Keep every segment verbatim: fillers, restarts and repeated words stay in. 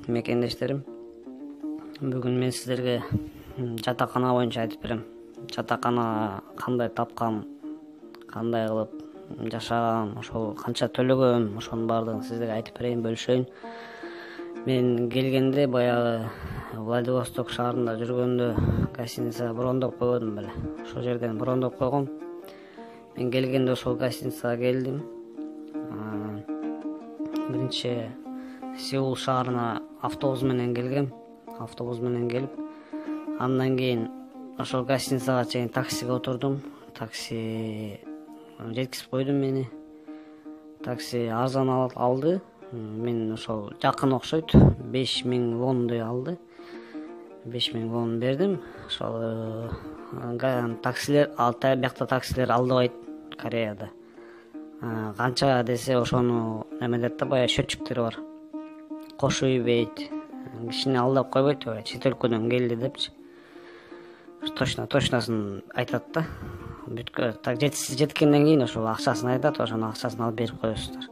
мекендештерим. Бүгүн мен сиздерге жатакана боюнча айтып берем. Жатакана кандай тапкам, кандай кылып жашагам, ошол канча төлөгөм, ошонун баардыгын сиздерге айтып берейин, бөлүшөйүн. Мен келгенде баягы Владивосток шаарында жүргөндө гостиница брондоп койгонмун беле. Ошол жерден брондоп койгом. Мен келгенде ошол гостиницага келдим. Биринчи Сеул шаарына автобус менен келгем. Автобус менен келип, андан кийин ошол гостиницага чейин таксиге отурдум. Такси жеткизип койду мени. Такси арзан алды. Мен ошол жакын окшойт. беш миң вондой алды. беш миң вон бердим. Ошол таксилер, алтай биякта таксилер алдыбайт Кореяда. Канча десе ошону немелер да, баягы счетчиктери бар. Кошуп ийбейт. Кишини алдап койбойт, чет өлкөдөн келди депчи. Точно, точносын айтат да. Бүткө так жеткенден кийин ошол акчасын айтат, ошонун акчасын алып берип коесуздар.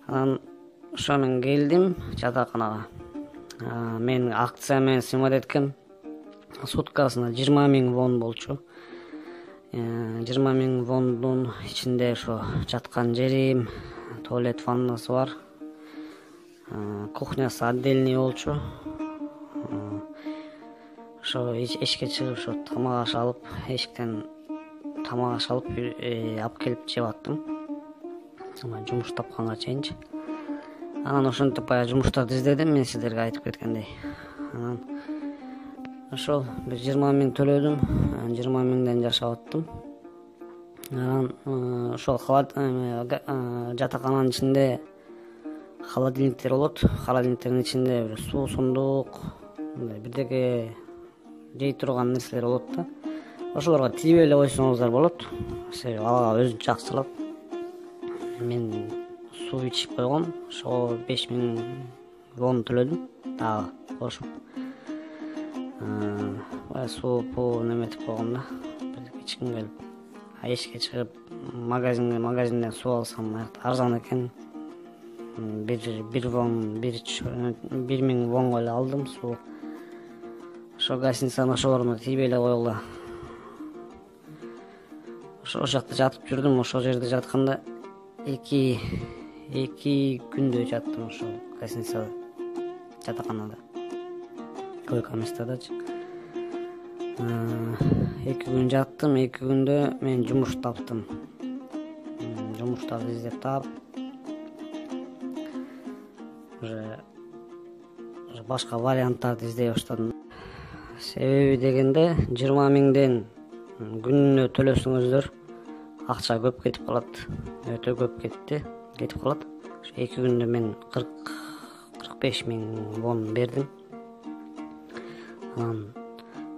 Анан ошо мен келдим жатаканага. Мен акция менен сымат эткем. Суткасына жыйырма миң вон болчу. жыйырма миң вондун ичинде ошо жаткан жерим, туалет, ваннасы бар. Кухнясы отдельный болчу. Ошо эшикке чыгып ошо тамак аш алып, эшиктен тамак аш алып алып келип жеп аттым. Жумуш тапканга чейинчи. Анан ошентип баягы жумуштарды издедим, мен сиздерге айтып кеткендей. Анан ошол бир жыйырма миң төлөдүм, жыйырма миңден жашап аттым. Анан ошол жатакананын ичинде холодильниктер болот. Холодильниктердин ичинде бир суу, сундук, бирдеке жей турган нерселер болот да. Ошолорго тийбей эле койсоңуздар болот. Себеби ага өзүнчө жакчылап. Мен суу ичип койгом. Ошого беш миң вон төлөдүм дагы кошуп. Бая суу пуу неметип койгом да. Бирдеке ичким келип. Эшикке чыгып магазинге магазинден суу алсам, аякта арзан экен. бир бир вон, бир миң вонго эле алдым суу. Ошо гостиницанын ошолоруна тийбей эле койгула. Ошол жакта жатып жүрдүм. Ошол жерде жатканда эки эки күндөй жаттым ошол гостиницада, жатаканада, койко-местадачы. Эки күн жаттым. Эки күндө мен жумуш таптым. Жумуштарды издеп таап, уже башка варианттарды издей баштадым. Себеби дегенде жыйырма миңден күнүнө төлөсөңүздөр акча көп кетип калат. Өтө көп кетти, кетип калат. Ошо эки күндө мен кырк кырк беш миң вон бердим. Анан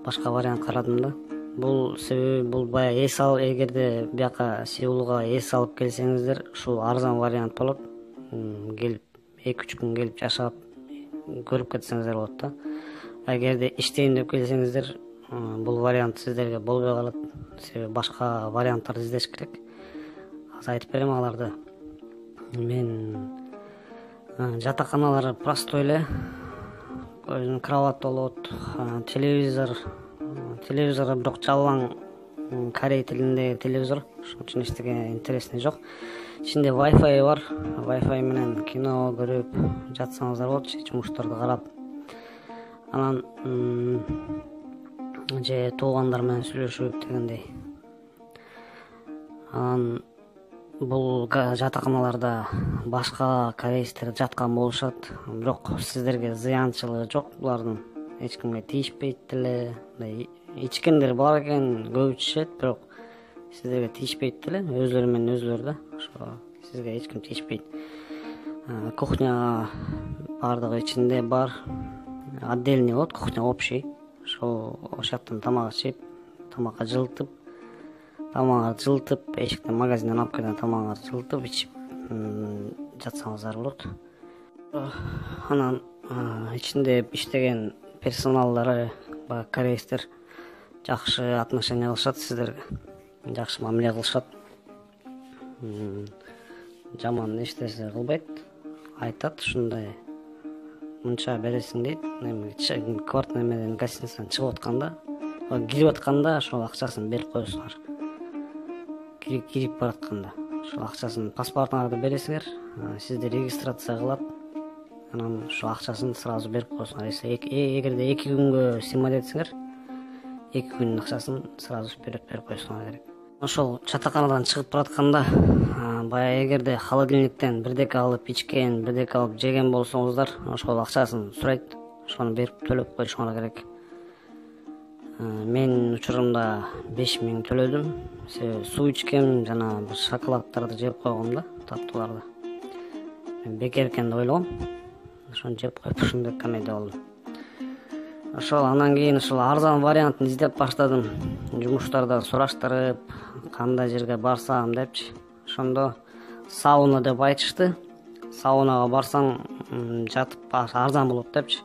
башка вариант карадым да. Бул себеби бул баягы эс ал, эгерде бияка Сеулга эс алып келсеңиздер, ушул арзан вариант болот. Келип эки үч күн келип жашап көрүп кетсеңиздер болот да. Эгерде иштейин деп келсеңиздер, бул вариант сиздерге болбой калат. Себеби башка варианттарды издеш керек. Азыр айтып берем аларды. Мен жатаканалар простой эле. Өзүнүн кровать болот, телевизор, телевизор бирок жалаң корей тилиндеги телевизор. Ошон үчүн эчтеке интересный жок. Ичинде Wi-Fi бар. Wi-Fi менен кино көрүп жатсаңыздар болот, жумуштарды карап. Анан же туугандар менен сүйлөшүп дегендей. Анан бул жатаканаларда башка корейстер жаткан болушат, бирок сиздерге зыянчылыгы жок булардын. Эч кимге тийишпейт деле. Ичкендер бар экен, көп ичишет, бирок сиздерге тийишпейт деле. Өзлөрү менен өзлөрү да. Ошо сизге эч ким тийишпейт. Кухня бардыгы ичинде бар. Отдельный болот, кухня общий. Ошол ошоктон тамак ичип, тамакка жылытып, тамак жылытып, эшиктен магазинден алып келген тамагыңарды жылытып ичип жатсаңыздар болот. Анан ичинде иштеген персоналдары, баягы корейстер жакшы отношение кылышат сиздерге. Жакшы мамиле кылышат. Жаман эч нерсе кылбайт. Айтат ушундай мынча бересиң дейт. Эми квартира менен гостиницадан чыгып атканда, кирип атканда ошол акчасын берип коесуңар. Кирип баратканда ошол акчасын паспортуңарды бересиңер, сизди регистрация кылат. Анан ошол акчасын сразу берип коесуңар. Эгерде эки күнгө сыймайт десеңер, эки күндүн акчасын сразу берип коесуңар керек. Ошол жатаканадан чыгып баратканда, баягы эгерде холодильниктен бирдеке алып ичкен, бирдеке алып жеген болсоңуздар, ошол акчасын сурайт, ошону берип төлөп коюшуңар керек. Мен учурумда беш миң төлөдүм. Себеби суу ичкем жана бир шоколаддарды жеп койгом да, таттууларды. Мен бекер экен деп ойлогом. Ошону жеп коюп ушундай комедия болду. Ошол андан кийин ушул арзан вариантын издеп баштадым. Жумуштардан сураштырып, кандай жерге барсам депчи. Ошондо сауна деп айтышты. Саунага барсаң жатып арзан болот депчи.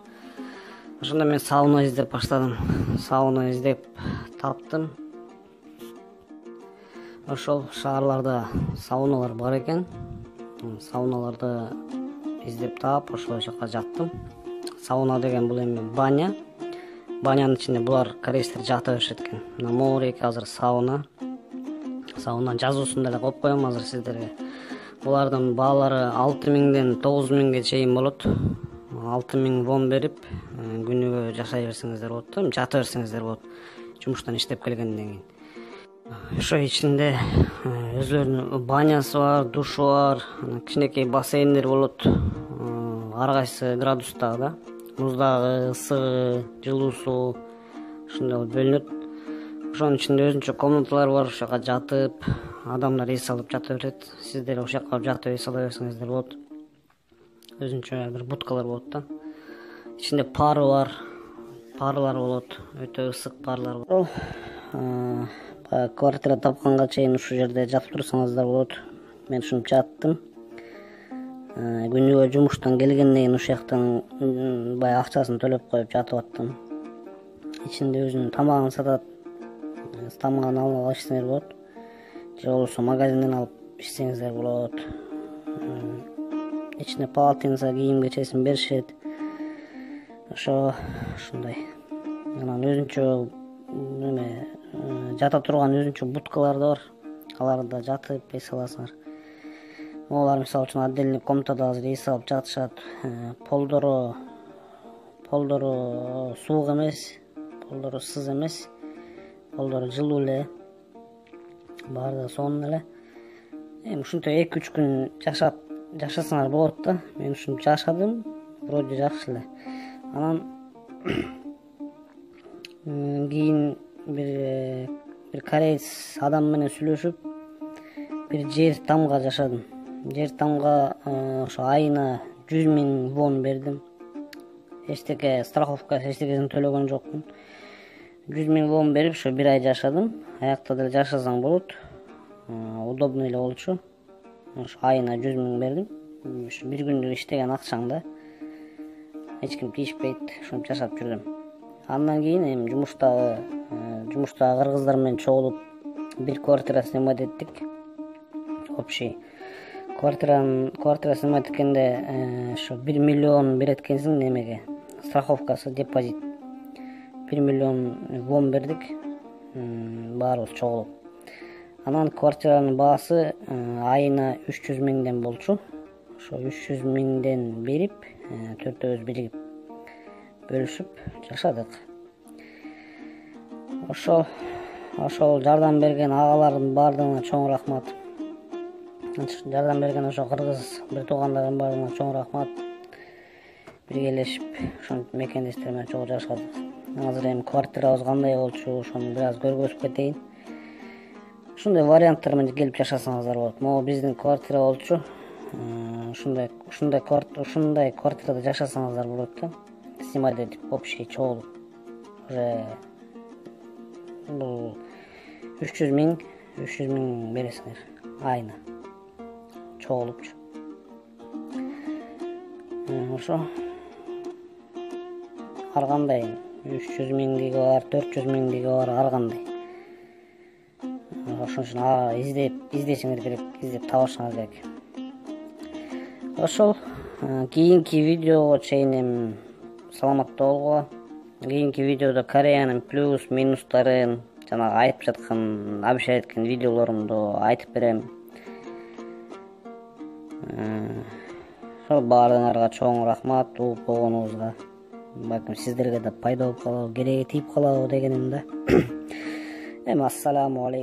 Ошондо мен сауна издеп баштадым. Сауна издеп таптым. Ошол шаарларда сауналар бар экен. Сауналарды издеп таап, ошол жака жаттым. Сауна деген бул эми баня. Банянын ичинде булар корейстер жата беришет экен. Мына моореки азыр сауна. Сауна жазуусун деле коюп коем азыр сиздерге. Булардын баалары алты миңден тогуз миңге чейин болот. алты миң вон берип, күнүгө жашай берсеңиздер болот да, жата берсеңиздер болот. Жумуштан иштеп келгенден кийин. Ошо ичинде өзлөрүнүн банясы бар, душу бар, кичинекей бассейндер болот. Ар кайсы градустагы да, муздагы, ысыгы, жылуусу ушундай бөлүнөт. Ошонун ичинде өзүнчө комнаталар бар, ошол жака жатып, адамдар эс алып жата берет. Сиздер ошол жака жатып эс ала берсеңиздер болот. Өзүнчө бир будкалар болот да. Ичинде пары бар, парлар болот, өтө ысык парлар болот. Баягы квартира тапканга чейин ушул жерде жатып турсаңыздар болот. Мен ушинтип жаттым. Күнүгө жумуштан келгенден кийин ушул жактан баягы акчасын төлөп коюп жатып аттым. Ичинде өзүнүн тамагын сатат. Тамагын алып ичсеңер болот. Же болбосо магазинден алып ичсеңиздер болот. Ичине полотенце, кийим кечесин беришет. Ошо ушундай. Анан өзүнчө неме жата турган өзүнчө будкалар да бар. Аларда жатып эс аласыңар. Олар мисалы үчүн отдельный комнатада азыр эс алып жатышат. Полдору полдору суук эмес, полдору сыз эмес. Полдору жылуу эле. Баары сонун эле. Эми ушинтип эки үч күн жашап жашасаңар болот да. Мен ушинтип жашадым. Вроде жакшы эле. Анан кийин бир бир кореец адам менен сүйлөшүп, бир жер тамга жашадым. Жер тамга ошо айына жүз миң вон бердим. Эчтеке страховка, эчтекесин төлөгөн жокмун. жүз миң вон берип, ошо бир ай жашадым. Аякта деле жашасаң болот. Удобный эле болчу. Ошо айына жүз миң бердим. Ушу бир күндүк иштеген акчаң да. Эч ким тийишпейт, ошентип жашап жүрдүм. Андан кийин эми жумуштагы жумуштагы кыргыздар менен чогулуп бир квартира снимать эттик. Общий квартиранын квартира снимать эткенде ошо бир миллион берет экенсиң немеге. Страховкасы, депозит. бир миллион вон бердик. Баарыбыз чогулуп. Анан квартиранын баасы айына үч жүз миңден болчу. Ошо үч жүз миңден берип, төртөөбүз биригип бөлүшүп жашадык. Ошо ошол жардам берген агалардын баардыгына чоң рахмат. Жардам берген ошо кыргыз бир туугандардын баардыгына чоң рахмат. Биргелешип ошентип мекендештер менен чогуу жашадык. Азыр эми квартирабыз кандай болчу, ошону бир аз көргөзүп кетейин. Ушундай варианттар менен келип жашасаңыздар болот. Могу биздин квартира болчу. Ушундай ушундай квартира ушундай квартирада жашасаңыздар болот да. Снимать этип общий чогулуп. Уже бул үч жүз миң, үч жүз миң бересиңер айына. Чогулупчу. Ошо ар кандай үч жүз миңдиги бар, төрт жүз миңдиги бар, ар кандай. Ошон үчүн издеп издешиңер керек, издеп табышыңар керек. Ошол Кийинки видеого чейин эми саламатта болгула. Кийинки видеодо Кореянын плюс минустарын жанагы айтып жаткан, обещать эткен видеолорумду айтып берем. Ошол баарыңарга чоң рахмат угуп болгонуңузга. Балким сиздерге да пайда болуп калабы, кереги тийип калабы дегеним да. Эми ассаламу алейкум.